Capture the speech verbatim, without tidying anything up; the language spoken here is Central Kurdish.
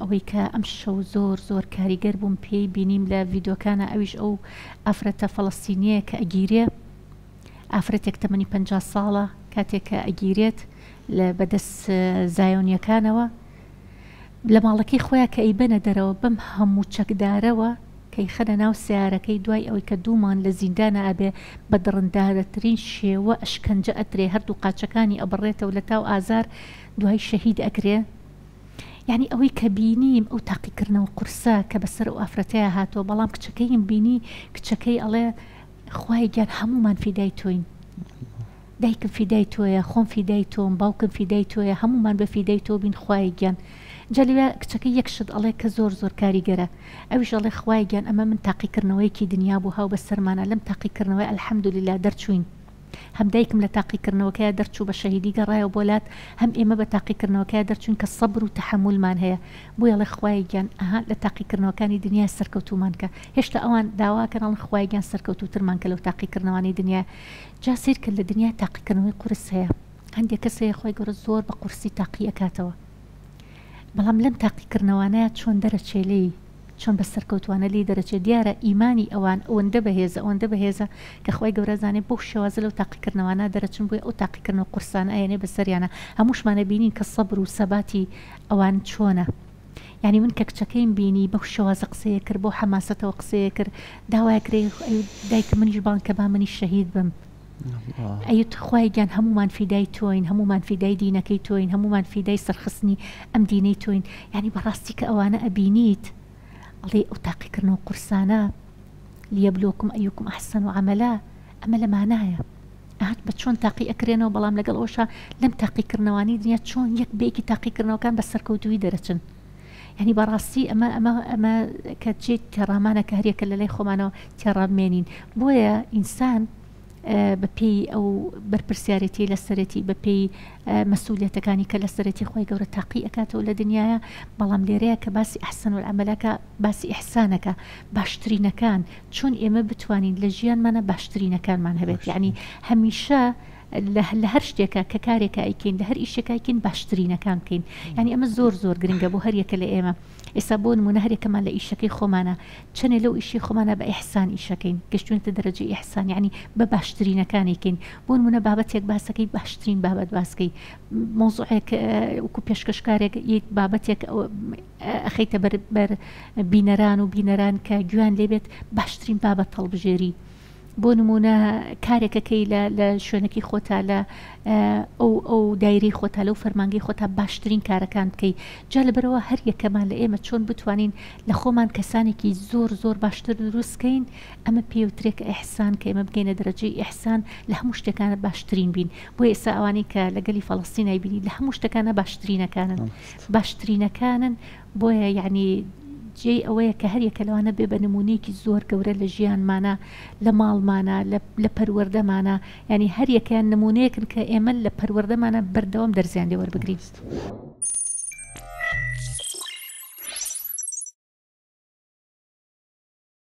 ئەوەی کە ئەم شەو زۆر زۆر کاریگەر بووم پێی بینیم لە ڤیدۆکانە، ئەویش ئەو ئافرەتە فەڵەستینیە کە ئەگیرێ، ئافرەتێک تەمەنی پەنجا ساڵە، کاتێک کە ئەگیرێت لە بەدەست زایۆنیەکانەوە لە ماڵەکەی خۆیان کە ئەیبەنە دەرەوە بەم هەموو چەکدارەوە کە ئیخەنە ناو سیارەکەی، دوای ئەوەی کە دوومان لە زیندانە ئەبێ بە دڕندارەترین شێوە ئەشکەنجە ئەترێ، هەردوو قاچەکانی ئەبڕێتەوە لە تاو ئازار، دوای شەهید ئەکرێ. یعنی ئەوەی کە بینیم ئەو تاقیکردنەوە قورسە کە بەسەر ئەو ئافرەتەیە هاتەوە، بەڵام کچەکەیم بینی، کچەکەی ئەڵێ خوای گیان هەمومان فیدای تۆین، دایکم فیدای تۆیە، خۆم فیدای تۆم، باوکم فیدای تۆیە، هەمومان بە فیدای تۆ بین خوای گیان. جا لەوێ کچەکە یەک شت ئەڵێ کە زۆر زۆر کاریگەرە، ئەویش ئەڵێ خوای گیان ئەمە من تاقیکردنەوەیەکی دنیا بوو هاو بەسەرمانە، لەم تاقیکردنەوەی ئەلحەمدولillah دەرچووین، هەم دایکم لە تاقیکردنەوەکەی دەرچوو بە شەهیدی گەڕایەوە بۆ لات، هەم ئێمە بە تاقیکردنەوەکەی دەرچوون کە سەبر و تەحەمولمان هەیە. بۆیە ئەڵێ خوای گیان ئەها لە تاقیکردنەوەکانی دنیا سەرکەوتومان کە، هێشتا ئەوان داواکەن ئەڵێن خوای گیان سەرکەوتوترمان کە لەو تاقیکردنەوانەی دنیا. جا سەیر کرد لە دنیا تاقیکردنەوەی قورس هەیە، هەندێک کەس هەیە خوای گەورە زۆر بە قورسی تاقی ئەکاتەوە، بەڵام لەم تاقیکردنەوانەیە چۆن دەرەچێ لێی، چۆن بە سەرکەوتوانە لێی دەرەچێ. دیارە ئیمانی ئەوان ئەوەندە بەهێزە، ئەوەندە بەهێزە کە خوای گەورە زانێ بەو شێوازە لەو تاقیکردنەوانە دەرەچن، بۆیە ئەو تاقیکردنەوە قورسانە ئەیەنێ بەسەریانە. هەمووشمانە بینین کە سەبر و سەباتی ئەوان چۆنە. یعنی من کە کچەکەیم بینی بەو شێوازە قسەیە کرد، بۆ حەماسەتەوە قسەیە کرد، داوای کرێ دایکە منیش بان کە با منیش شەهید بم. ئەیت خوای گیان هەمومان فیدای تۆین، هەمومان فیدای دینەکەی تۆین، هەمومان فیدای سەرخستنی ئەم دینەی تۆین. یعنی بەڕاستی کە ئەوانە ئەبینیت ئەڵێ ئەو تاقیکردنەوە قورسانە لیەبلوکم ئەیوکم ئەحسەن عەمەلا، ئەمە لە مانایە هات بە چۆن تاقی ئەکرێنەوە، بەڵام لەگەڵ ئەوشا لەم تاقیکردنەوانی دنیا چۆن یەک بەیەکی تاقیکردنەوەکان بە سەرکەوتووی دەرەچن. یعنی بەڕاستی ئەمە ئەمە ئەمە کە چێ تێڕامانە کە هەریەکە لە لای خۆمانەوە تێڕامێنین. بۆیە ئینسان بەپێی ئەو بەرپرسیارەتی لەسەرەتی، بەپێی مەسئولیەتەکانی کە لەسەرەتی خۆی گەورە تاقی ئەکاتەوە لە دنیاە، بەڵام لێرەیە کە باسی ئەحسەن العەمەلەکە، باسی ئیحسانەکە، باشترینەکان، چۆن ئێمە بتوانین لە ژیانمانە باشترینەکانمان هەبێت. یعنی هەمیشە لە هەر شتێکە کە کارێکە ئەیکەین، لە هەر ئیشێکە ئەیکەین، باشترینەکان بکەین. یعنی ئەمە زۆر زۆر گرنگە بۆ هەر یەکە لە ئێمە. ئێستا بۆ نمونە هەر یەکەمان لە ئیشەکەی خۆمانە چەنێ لەو ئیشی خۆمانە بە ئیحسان ئیشەکەین، گەشتوینتە دەرەجەی ئیحسان، یعنی بە باشترینەکانێکین. بۆ نمونە بابەتێک باسەکەی باشترین بابەت باسکەی، مۆزوعێک وەکو پێشکەشکارێک بابەتێک ئەخەیتە بەر بینەران و بینەران کە گوێیان لێبێت، باشترین بابەت هەڵبژێری. بۆ نمونە کارێکەکەی لە شوێنەکەی خۆتا، لە ئەو ئەو دایرەی خۆتا، لەو فەرمانگەی خۆتا باشترین کارەکان بکەی. جا لەبەرەوە هەر یەکەمان لە ئێمە چۆن بتوانین لە خۆمان کەسانێکی زۆر زۆر باشتر دروستکەین، ئەمە پێوترێکە ئیحسان، کە ئێمە بگەینە دەرەجەی ئیحسان، لە هەموو شتەکانە باشترین بین. بۆ ئێستا ئەوانەی کە لەگەلی فەڵەستینای بینی لە هەموو شتەکانە باشترینەکانن، باشترینەکانن. بۆیە یعنی جێی ئەوەیە کە هەر یەکە لەوانە بێ بە نمونەیەکی زۆر گەورە لە ژیانمانە، لە ماڵمانە، لە پەروەردەمانە. یعنی هەر یەکەیان نمونەیەکن کە ئێمە لە پەروەردەمانە بەردەوام دەرزیان لێ وەربگرین.